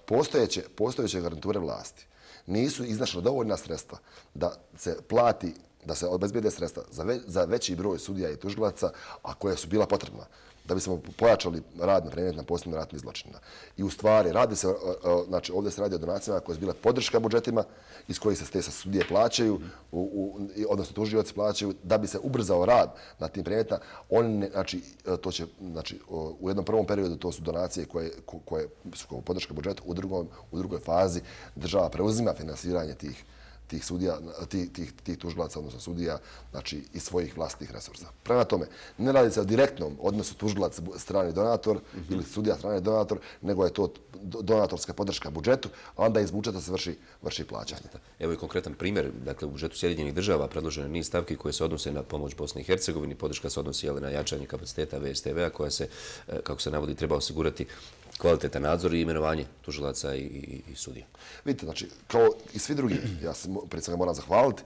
postojeće, postojeće garanture vlasti nisu iznašle dovoljna sredstva da se plati, da se obezbijede sredstva za, ve, za veći broj sudija i tužilaca, a koje su bila potrebna da bismo pojačali rad na predmet na posebnim ratnim zločinima. I u stvari, radi se, znači ovdje se radi o donacijama koje su bile podrška budžetima, iz kojih se te sudije plaćaju, u, u, odnosno tužioci plaćaju, da bi se ubrzao rad na tim predmetima. Oni, znači, to će, znači, u jednom prvom periodu to su donacije koje, koje su podrška budžeta, u, drugom, u drugoj fazi država preuzima finansiranje tih tih sudija, tih, tih, tih tužilaca, odnosno sudija, znači iz svojih vlastnih resursa. Prema tome, ne radi se o direktnom odnosu tužilac strani donator mm-hmm. ili sudija strani donator, nego je to donatorska podrška budžetu, a onda iz budžeta se vrši, vrši plaćanje. Evo i konkretan primjer, dakle u budžetu Sjedinjenih država predloženo niz stavki koje se odnose na pomoć Bosni i Hercegovini, podrška se odnosi na jačanje kapaciteta V S T V-a koja se, kako se navodi, treba osigurati kvalitetan nadzor i imenovanje tužilaca i, i, i sudija. Vidite, znači, kao i svi drugi, ja se prije svega moram zahvaliti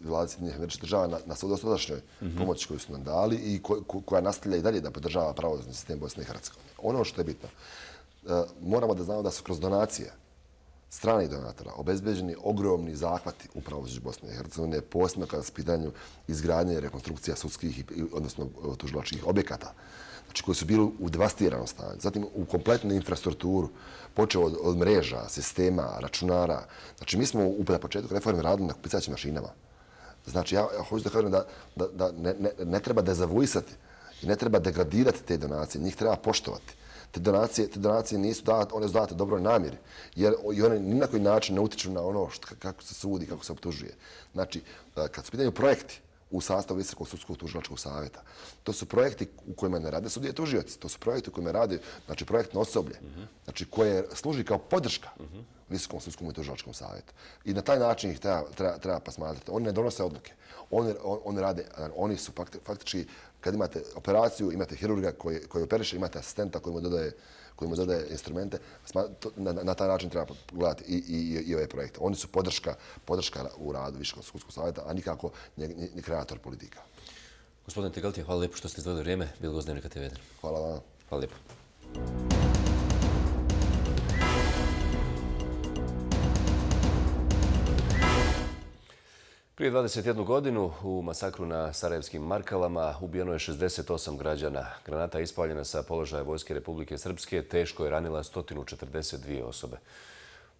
vladi Sjedinjenih Američkih Država na, na dosadašnjoj mm-hmm. pomoći koju su nam dali i ko, ko, koja nastavlja i dalje da podržava pravosudni sistem Bosne i Hercegovine. Ono što je bitno, moramo da znamo da su kroz donacije stranih donatora obezbeđeni ogromni zahvati u pravosuđu Bosne i Hercegovine, posebno kada su pitanju izgradnje i rekonstrukcija sudskih, odnosno tužilačkih objekata, znači koji su bili u devastiranom stanju. Zatim u kompletnu infrastrukturu, počeo od, od mreža, sistema, računara. Znači mi smo u na početku reforme radili na pisaćim mašinama. Znači ja, ja hoću da kažem da, da, da ne, ne, ne treba dezavuisati i ne treba degradirati te donacije, njih treba poštovati. Te donacije, te donacije nisu date, one su date dobroj namjeri, jer i one ni na koji način ne utiču na ono što, kako se sudi, kako se optužuje. Znači, kad su pitaju projekti u sastavu Visokog sudskog tužilačkog savjeta, to su projekti u kojima ne rade sudije tužioci, to su projekti u kojima rade, znači, projektno osoblje, mm-hmm. znači, koje služi kao podrška mm-hmm. Visokom sudskom i tužilačkom savjetu. I na taj način ih treba, treba, treba pasmatrati. Oni ne donose odluke. Oni, on, oni rade, oni su faktički, kad imate operaciju, imate hirurga koji, koji operiše, imate asistenta koji mu dodaje, koji mu dodaje instrumente, na, na taj način treba gledati i, i, i ove projekte. Oni su podrška, podrška u radu Visokog sudskog savjeta, a nikako ni, ni, ni kreator politika. Gospodine Tegaltija, hvala lijepo što ste izdvojili vrijeme. Bilo gost Dnevnika te ve jedan. Hvala vam. Hvala lijepo. Prije dvadeset jednu godinu u masakru na Sarajevskim Markalama ubijeno je šezdeset osam građana. Granata je ispaljena sa položaja Vojske Republike Srpske, teško je ranila sto četrdeset dvije osobe.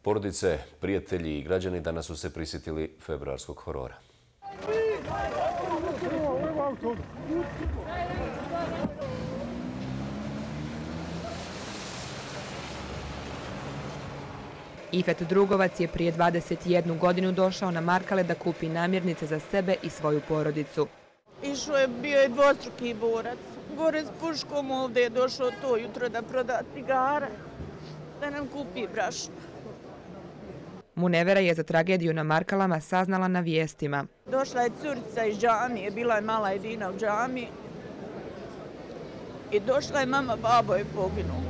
Porodice, prijatelji i građani danas su se prisjetili februarskog horora. Ifet Drugovac je prije dvadeset jednu godinu došao na Markale da kupi namirnice za sebe i svoju porodicu. Išao je, bio je dvostruki borac. Gore s puškom ovdje je došao to jutro da proda cigare, da nam kupi brašno. Munevera je za tragediju na Markalama saznala na vijestima. Došla je curica iz džamije, bila je mala Edina u džamiji. I došla je mama, babo je poginuo.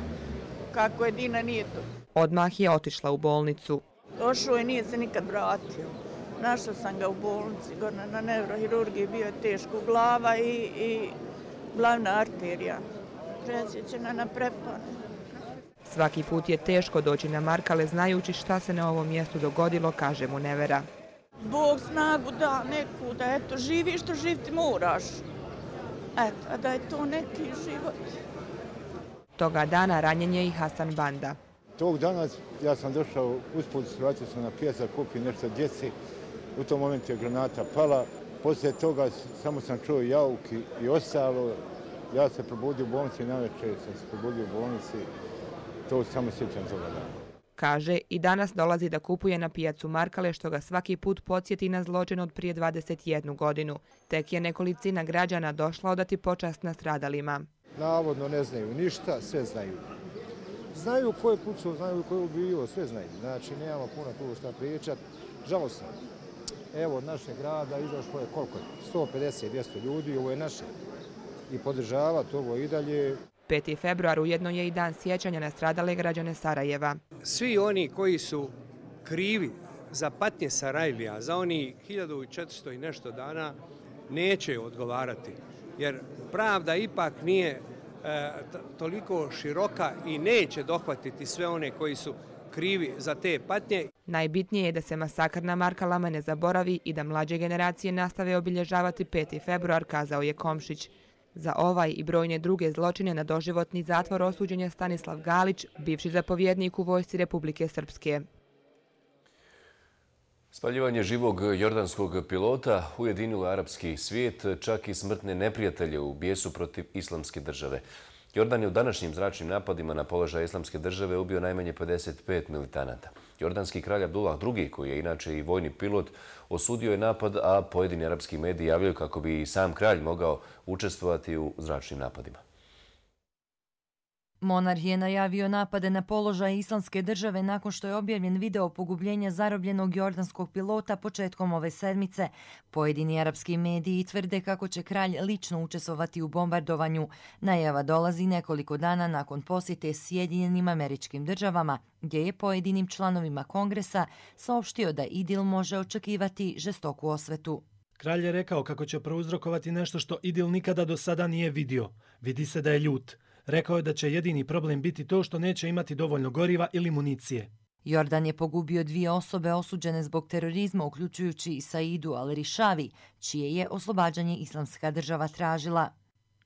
Kako Edina nije to. Odmah je otišla u bolnicu. Došao je, nije se nikad vratio. Našla sam ga u bolnici, gore na neurohirurgiji, bio je teško glava i, i glavna arterija. Presjećena na prepone. Svaki put je teško doći na Markale znajući šta se na ovom mjestu dogodilo, kaže mu Nevera. Bog snagu da neku, da eto, živi što živti moraš. Eto, a da je to neki život. Toga dana ranjen je i Hasan Banda. Tog dana ja sam došao usput, vratio sam na pijac, kupio nešto djeci. U tom momentu je granata pala. Poslije toga samo sam čuo jauk i, i ostalo. Ja se probudio u bolnici, navečer sam se probudio u bolnici. To samo sjećam toga dana. Kaže, i danas dolazi da kupuje na pijacu Markale, što ga svaki put podsjeti na zločin od prije dvadeset jednu godinu. Tek je nekolicina građana došla odati počast nastradalima. Navodno ne znaju ništa, sve znaju. Znaju ko je pucao, znaju ko je ubio, sve znaju. Znači, nemamo puno tu šta pričat. Žalosno. Evo, od našeg grada izašlo je koliko? sto pedeset do dvjesto ljudi, ovo je naše. I podržavati ovo i dalje. peti februar ujedno je i dan sjećanja na stradale građane Sarajeva. Svi oni koji su krivi za patnje Sarajlija, za oni hiljadu četiristo i nešto dana, neće odgovarati. Jer pravda ipak nije e, toliko široka i neće dohvatiti sve one koji su krivi za te patnje. Najbitnije je da se masakr na Markalama ne zaboravi i da mlađe generacije nastave obilježavati peti februar, kazao je Komšić. Za ovaj i brojne druge zločine na doživotni zatvor osuđen je Stanislav Galić, bivši zapovjednik u vojsci Republike Srpske. Spaljivanje živog jordanskog pilota ujedinilo arapski svijet, čak i smrtne neprijatelje u bijesu protiv islamske države. Jordan je u današnjim zračnim napadima na položaj islamske države ubio najmanje pedeset pet militanata. Jordanski kralj Abdullah drugi, koji je inače i vojni pilot, osudio je napad, a pojedini arapski mediji javljaju kako bi i sam kralj mogao učestvovati u zračnim napadima. Monarh je najavio napade na položaj islamske države nakon što je objavljen video pogubljenja zarobljenog jordanskog pilota početkom ove sedmice. Pojedini arapski mediji tvrde kako će kralj lično učestvovati u bombardovanju. Najava dolazi nekoliko dana nakon posjete Sjedinjenim Američkim Državama, gdje je pojedinim članovima kongresa saopštio da Idil može očekivati žestoku osvetu. Kralj je rekao kako će prouzrokovati nešto što Idil nikada do sada nije vidio. Vidi se da je ljut. Rekao je da će jedini problem biti to što neće imati dovoljno goriva ili municije. Jordan je pogubio dvije osobe osuđene zbog terorizma, uključujući i Saidu al-Rishavi, čije je oslobađanje islamska država tražila.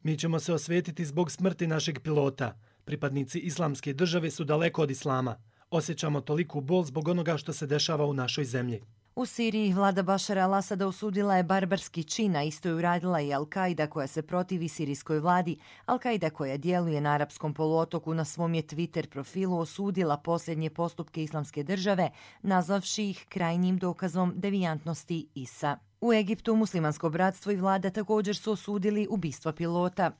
Mi ćemo se osvetiti zbog smrti našeg pilota. Pripadnici islamske države su daleko od islama. Osjećamo toliku bol zbog onoga što se dešava u našoj zemlji. U Siriji vlada Bašara al-Asada osudila je barbarski čin, a isto je uradila i Al-Kaida koja se protivi sirijskoj vladi. Al-Kaida koja djeluje na arapskom poluotoku na svom je Twitter profilu osudila posljednje postupke islamske države, nazvavši ih krajnjim dokazom devijantnosti I S A. U Egiptu muslimansko bratstvo i vlada također su osudili ubistvo pilota.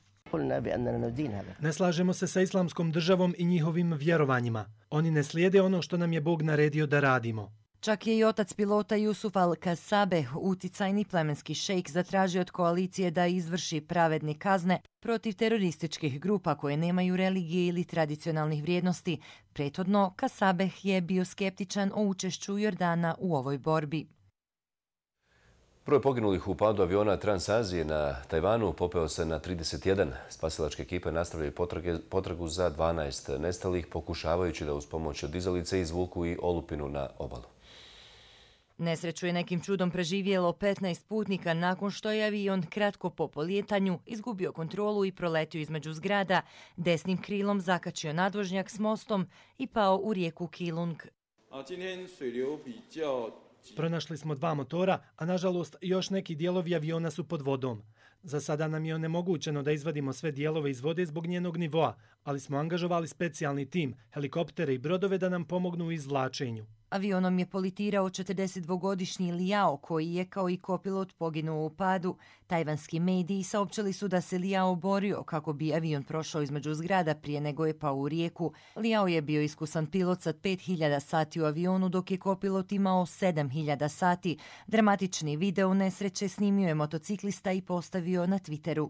Ne slažemo se sa islamskom državom i njihovim vjerovanjima. Oni ne slijede ono što nam je Bog naredio da radimo. Čak je i otac pilota Jusuf al-Kasabe, uticajni plemenski šejk, zatražio od koalicije da izvrši pravedne kazne protiv terorističkih grupa koje nemaju religije ili tradicionalnih vrijednosti. Prethodno, Kasabeh je bio skeptičan o učešću Jordana u ovoj borbi. Broj poginulih u padu aviona Transazije na Tajvanu popeo se na trideset jedan. Spasilačke ekipe nastavljaju potragu za dvanaest nestalih, pokušavajući da uz pomoć dizalice izvuku i olupinu na obalu. Nesreću je nekim čudom preživjelo petnaest putnika nakon što je avion kratko po polijetanju izgubio kontrolu i proletio između zgrada, desnim krilom zakačio nadvožnjak s mostom i pao u rijeku Kilung. Pronašli smo dva motora, a nažalost još neki dijelovi aviona su pod vodom. Za sada nam je onemogućeno da izvadimo sve dijelove iz vode zbog njenog nivoa, ali smo angažovali specijalni tim, helikoptere i brodove da nam pomognu u izvlačenju. Avionom je politirao četrdesetdvogodišnji Liao, koji je kao i kopilot poginuo u padu. Tajvanski mediji saopćili su da se Liao borio kako bi avion prošao između zgrada prije nego je pao u rijeku. Liao je bio iskusan pilot sa pet hiljada sati u avionu, dok je kopilot imao sedam hiljada sati. Dramatični video nesreće snimio je motociklista i postavio na Twitteru.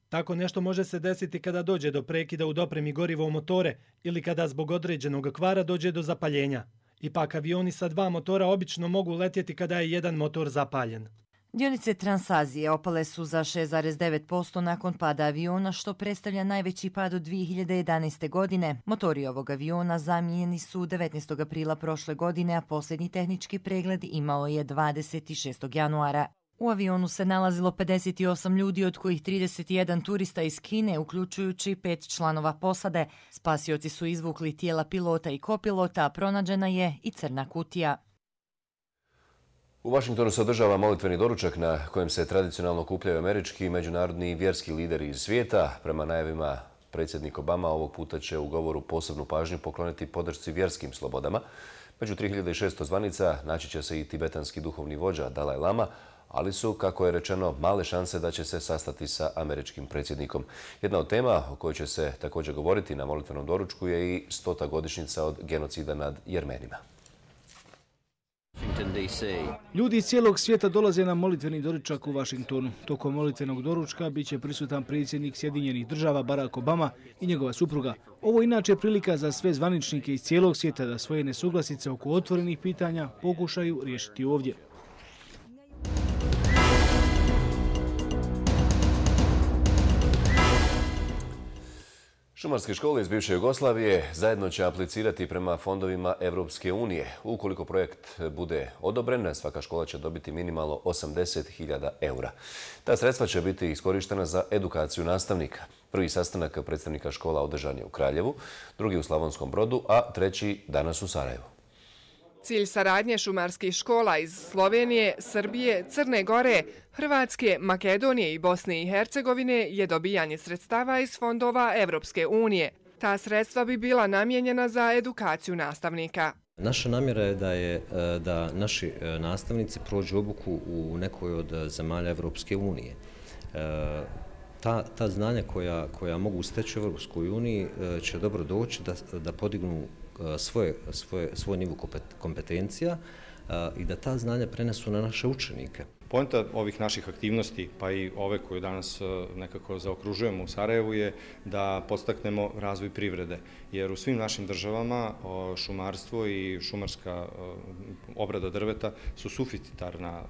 Tako nešto može se desiti kada dođe do prekida u dopremi goriva u motore ili kada zbog određenog kvara dođe do zapaljenja. Ipak avioni sa dva motora obično mogu letjeti kada je jedan motor zapaljen. Dionice Transazije opale su za šest zarez devet posto nakon pada aviona, što predstavlja najveći pad od dvije hiljade jedanaeste. godine. Motori ovog aviona zamijenjeni su devetnaestog aprila prošle godine, a posljednji tehnički pregled imao je dvadeset šestog januara. U avionu se nalazilo pedeset osam ljudi, od kojih trideset jedan turista iz Kine, uključujući pet članova posade. Spasioci su izvukli tijela pilota i kopilota, a pronađena je i crna kutija. U Vašingtonu se održava molitveni doručak na kojem se tradicionalno okupljaju američki i međunarodni i vjerski lideri iz svijeta. Prema najavima, predsjednik Obama ovog puta će u govoru posebnu pažnju pokloniti podršci vjerskim slobodama. Među tri hiljade šesto zvanica naći će se i tibetanski duhovni vođa Dalaj Lama, ali su, kako je rečeno, male šanse da će se sastati sa američkim predsjednikom. Jedna od tema o kojoj će se također govoriti na molitvenom doručku je i stota godišnjica od genocida nad Jermenima. Ljudi iz cijelog svijeta dolaze na molitveni doručak u Vašingtonu. Tokom molitvenog doručka bit će prisutan predsjednik Sjedinjenih država Barack Obama i njegova supruga. Ovo je inače prilika za sve zvaničnike iz cijelog svijeta da svoje nesuglasice oko otvorenih pitanja pokušaju riješiti ovdje. Šumarske škole iz bivše Jugoslavije zajedno će aplicirati prema fondovima Evropske unije. Ukoliko projekt bude odobren, svaka škola će dobiti minimalno osamdeset hiljada eura. Ta sredstva će biti iskorištena za edukaciju nastavnika. Prvi sastanak predstavnika škola održan je u Kraljevu, drugi u Slavonskom Brodu, a treći danas u Sarajevu. Cilj saradnje šumarskih škola iz Slovenije, Srbije, Crne Gore, Hrvatske, Makedonije i Bosne i Hercegovine je dobijanje sredstava iz fondova Evropske unije. Ta sredstva bi bila namijenjena za edukaciju nastavnika. Naša namjera je da, je da naši nastavnici prođu obuku u nekoj od zemalja Evropske unije. Ta, ta znanja koja, koja mogu steći u Evropskoj uniji će dobro doći da, da podignu svoje, svoje, svoj nivo kompetencija i da ta znanja prenesu na naše učenike. Poenta ovih naših aktivnosti, pa i ove koje danas nekako zaokružujemo u Sarajevu, je da podstaknemo razvoj privrede. Jer u svim našim državama šumarstvo i šumarska obrada drveta su suficitarna,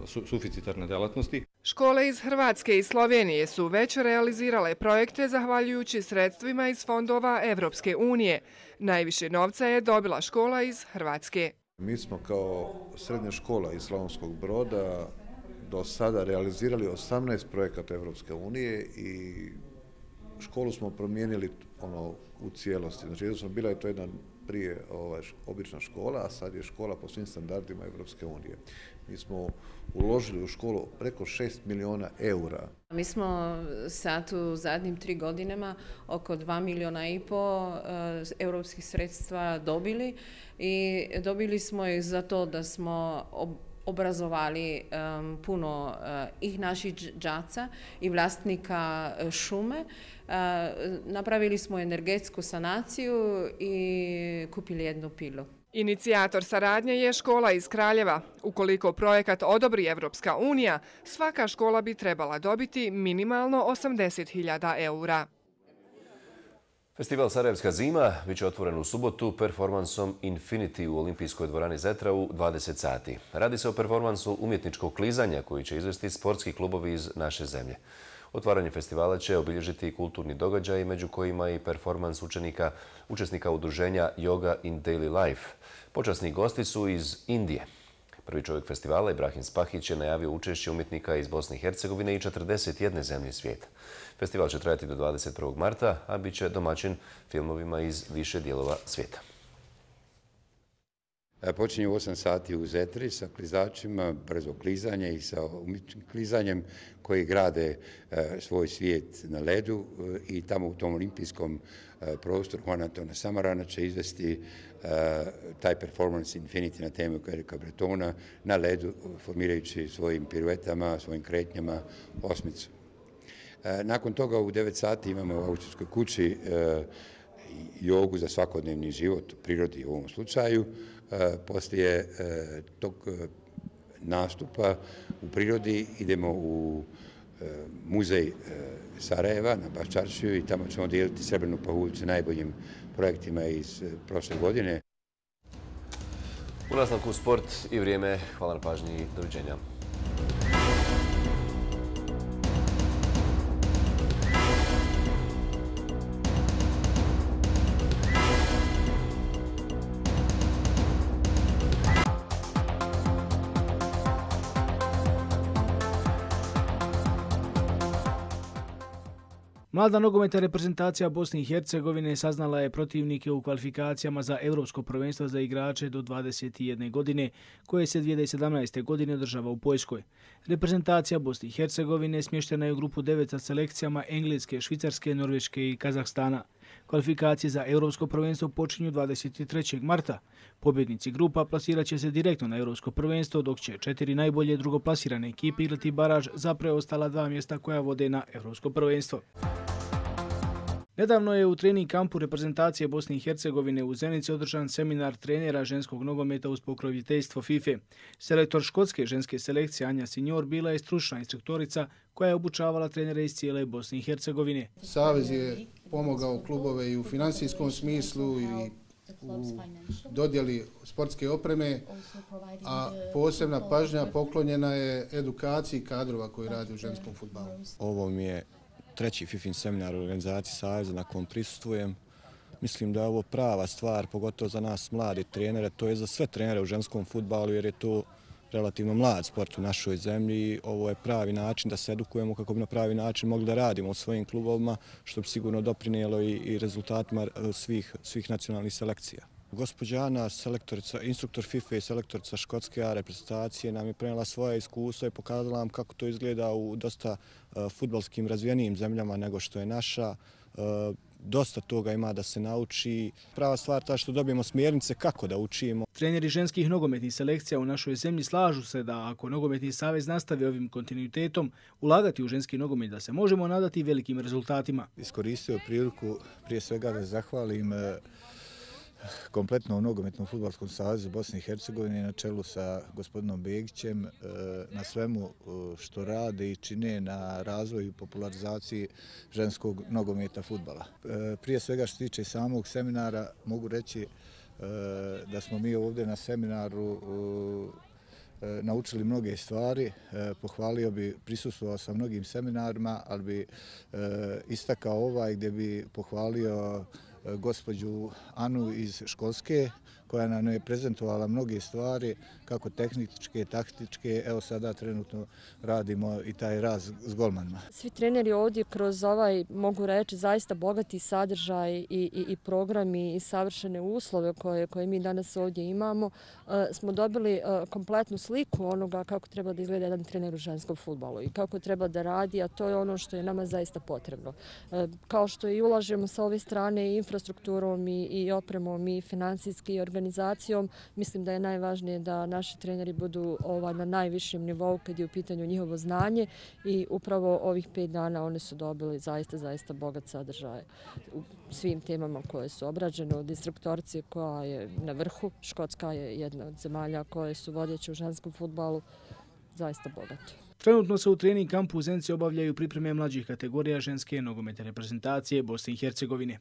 su, suficitarne delatnosti. Škole iz Hrvatske i Slovenije su već realizirale projekte zahvaljujući sredstvima iz fondova Evropske unije. Najviše novca je dobila škola iz Hrvatske. Mi smo kao srednja škola iz Slavonskog Broda do sada realizirali osamnaest projekata Evropske unije i školu smo promijenili ono u cijelosti. Znači, jedno smo bila je to jedna prije ovaj, obična škola, a sad je škola po svim standardima Evropske unije. Mi smo uložili u školu preko šest miliona eura. Mi smo sad u zadnjim tri godinama oko dva miliona i po europskih sredstva dobili i dobili smo ih za to da smo obrazovali um, puno uh, ih naših đaca i vlasnika šume. Uh, napravili smo energetsku sanaciju i kupili jednu pilu. Inicijator saradnje je škola iz Kraljeva. Ukoliko projekat odobri Evropska unija, svaka škola bi trebala dobiti minimalno osamdeset hiljada eura. Festival Sarajevska zima biće otvoren u subotu performansom Infinity u olimpijskoj dvorani Zetra u dvadeset sati. Radi se o performansu umjetničkog klizanja koji će izvesti sportski klubovi iz naše zemlje. Otvaranje festivala će obilježiti i kulturni događaj, među kojima i performans učenika, učesnika udruženja Yoga in Daily Life. Počasni gosti su iz Indije. Prvi čovjek festivala, Ibrahim Spahić, je najavio učešće umjetnika iz Bosne i Hercegovine i četrdeset jedne zemlje svijeta. Festival će trajati do dvadeset prvog marta, a bit će domaćin filmovima iz više dijelova svijeta. Počinje u osam sati u Zetri sa klizačima, brzo klizanje i sa umjetničkim klizanjem koji grade svoj svijet na ledu i tamo u tom olimpijskom prostoru Juan Antona Samarana će izvesti taj performance Infinity na temu Erika Bretona na ledu, formirajući svojim piruetama, svojim kretnjama osmicu. Nakon toga u devet sati imamo u Austrijskoj kući jogu za svakodnevni život u prirodi u ovom slučaju. Poslije tog nastupa u prirodi idemo u muzej Sarajeva na Baščaršiju i tamo ćemo dijeliti srebrnu pahuljicu najboljim projektima iz prošle godine. U nastavku sport i vrijeme. Hvala na pažnji i doviđenja. Mlada nogometna reprezentacija Bosne i Hercegovine saznala je protivnike u kvalifikacijama za Europsko prvenstvo za igrače do dvadeset jedne godine, koje se dvije tisuće sedamnaeste. godine održava u Poljskoj. Reprezentacija Bosne i Hercegovine smještena je u grupu devet sa selekcijama Engleske, Švicarske, Norveške i Kazahstana. Kvalifikacije za Europsko prvenstvo počinju dvadeset trećeg marta. Pobjednici grupa plasirat će se direktno na Europsko prvenstvo, dok će četiri najbolje drugoplasirane ekipe igrati baraž za preostala dva mjesta koja vode na Europsko prvenstvo. Nedavno je u trening kampu reprezentacije Bosne i Hercegovine u Zenici održan seminar trenera ženskog nogometa uz pokroviteljstvo FIFA. Selektor škotske ženske selekcije Anja Signor bila je stručna instruktorica koja je obučavala trenere iz cijele Bosne i Hercegovine. Savez je pomogao klubove i u finansijskom smislu i u dodjeli sportske opreme, a posebna pažnja poklonjena je edukaciji kadrova koji radi u ženskom fudbalu. Ovo mi je treći FIFIN seminar u organizaciji Saveza na kom prisustvujem. Mislim da je ovo prava stvar, pogotovo za nas mladi trenere, to je za sve trenere u ženskom fudbalu jer je to relativno mlad sport u našoj zemlji. Ovo je pravi način da se edukujemo kako bi na pravi način mogli da radimo u svojim klubovima, što bi sigurno doprinijelo i, i rezultatima svih, svih nacionalnih selekcija. Gospođa Ana, instruktor FIFA i selektorica škotske reprezentacije, nam je prenijela svoje iskustvo i pokazala nam kako to izgleda u dosta uh, fudbalskim razvijenijim zemljama nego što je naša. Uh, dosta toga ima da se nauči. Prava stvar ta što dobijemo smjernice kako da učimo. Treneri ženskih nogometnih selekcija u našoj zemlji slažu se da ako Nogometni savez nastavi ovim kontinuitetom ulagati u ženski nogomet da se možemo nadati velikim rezultatima. Iskoristio priliku prije svega da zahvalim kompletno nogometnom fudbalskom savezu Bosne i Hercegovine na čelu sa gospodinom Begićem na svemu što rade i čine na razvoju i popularizaciji ženskog nogometa fudbala. Prije svega što se tiče samog seminara mogu reći da smo mi ovdje na seminaru naučili mnoge stvari. Pohvalio bi, prisustvovao sam mnogim seminarima, ali bi istakao ovaj gdje bi pohvalio gospođu Anu iz Školske, koja nam je prezentovala mnoge stvari, kako tehničke, taktičke. Evo sada trenutno radimo i taj raz s golmanima. Svi treneri ovdje kroz ovaj, mogu reći, zaista bogati sadržaj i, i, i programi i savršene uslove koje, koje mi danas ovdje imamo, uh, smo dobili uh, kompletnu sliku onoga kako treba da izgleda jedan trener u ženskom fudbalu i kako treba da radi, a to je ono što je nama zaista potrebno. Uh, kao što i ulažemo sa ove strane i infrastrukturom i, i opremom i finansijski i organizacijom, mislim da je najvažnije da naši treneri budu ovaj, na najvišem nivou kad je u pitanju njihovo znanje i upravo ovih pet dana oni su dobili zaista, zaista bogat sadržaj u svim temama koje su obrađene, od instruktorice koja je na vrhu, Škotska je jedna od zemalja koje su vodeće u ženskom fudbalu, zaista bogato. Trenutno se u trening kampu u Zenici obavljaju pripreme mlađih kategorija ženske nogometne reprezentacije Bosne i Hercegovine.